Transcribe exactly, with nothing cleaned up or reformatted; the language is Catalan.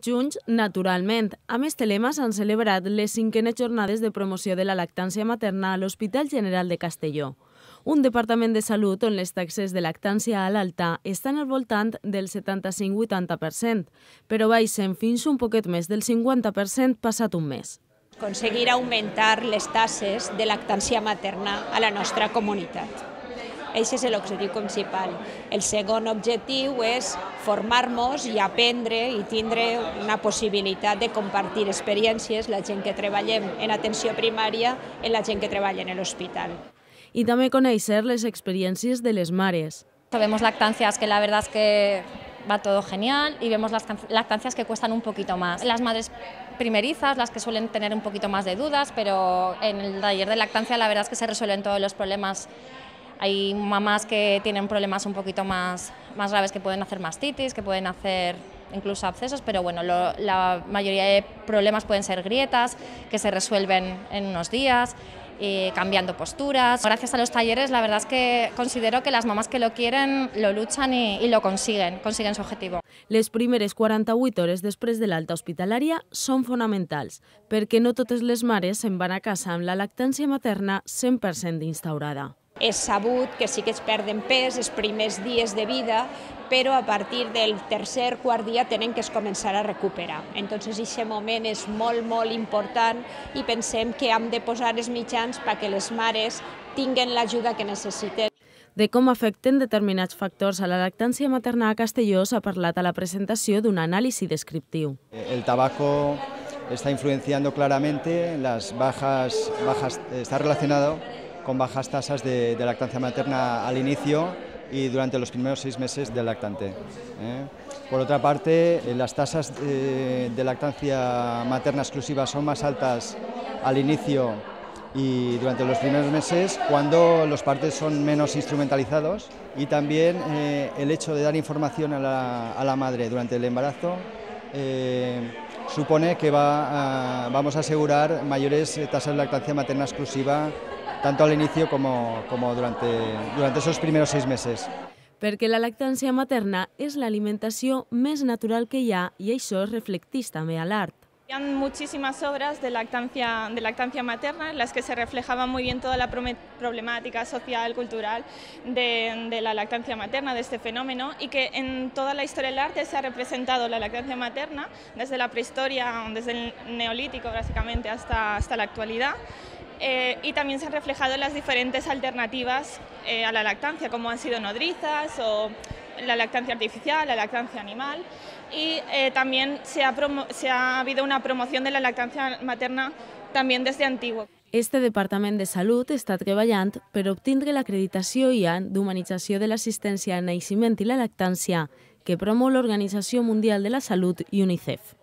Junts, naturalment. A més, Telema s'han celebrat les cinquenes jornades de promoció de la lactància materna a l'Hospital General de Castelló, un departament de salut on les taxes de lactància a l'alta estan al voltant del setanta-cinc a vuitanta per cent, però baixen fins un poquet més del cinquanta per cent passat un mes. Aconseguir augmentar les taxes de lactància materna a la nostra comunitat. Aquest és l'objectiu principal. El segon objectiu és formar-nos i aprendre i tindre una possibilitat de compartir experiències, la gent que treballem en atenció primària i la gent que treballa en l'hospital. Y también conocer las experiencias de las mares. Vemos lactancias que la verdad es que va todo genial y vemos las lactancias que cuestan un poquito más. Las madres primerizas, las que suelen tener un poquito más de dudas, pero en el taller de lactancia la verdad es que se resuelven todos los problemas. Hay mamás que tienen problemas un poquito más, más graves, que pueden hacer mastitis, que pueden hacer incluso abscesos, pero bueno, lo, la mayoría de problemas pueden ser grietas, que se resuelven en unos días, eh, cambiando posturas. Gracias a los talleres, la verdad es que considero que las mamás que lo quieren lo luchan y, y lo consiguen, consiguen su objetivo. Les primeres quaranta-vuit hores després de l'alta hospitalària són fonamentals, perquè no totes les mares se'n van a casa amb la lactància materna cent per cent instaurada. És sabut que sí que es perden pes els primers dies de vida, però a partir del tercer quart dia tenen que es començar a recuperar. Entonces, aquest moment és molt, molt important i pensem que hem de posar els mitjans perquè les mares tinguen l'ajuda que necessiten. De com afecten determinats factors a la lactància materna a Castelló s'ha parlat a la presentació d'un anàlisi descriptiu. El tabaco está influenciando claramente las bajas, bajas, está relacionado con bajas tasas de, de lactancia materna al inicio y durante los primeros seis meses del lactante. ¿eh? Por otra parte, las tasas de, de lactancia materna exclusiva son más altas al inicio y durante los primeros meses cuando los partos son menos instrumentalizados, y también eh, el hecho de dar información a la, a la madre durante el embarazo eh, supone que va a, vamos a asegurar mayores tasas de lactancia materna exclusiva tanto al inicio como, como durante, durante esos primeros seis meses. Perquè la lactància materna és l'alimentació més natural que hi ha i això es reflecteix també a l'art. Hay muchísimas obras de lactancia, de lactancia materna en las que se reflejaba muy bien toda la problemática social, cultural de, de la lactancia materna, de este fenómeno, y que en toda la historia del arte se ha representado la lactancia materna desde la prehistoria, desde el neolítico básicamente hasta, hasta la actualidad. Eh, y también se han reflejado las diferentes alternativas eh, a la lactancia, como han sido nodrizas o la lactancia artificial, la lactancia animal, y eh, también se ha, se ha habido una promoción de la lactancia materna también desde antiguo. Este Departament de Salut està treballant per obtindre l'acreditació I A N d'humanització de l'assistència al naixement i la lactància que promou l'Organització Mundial de la Salut i UNICEF.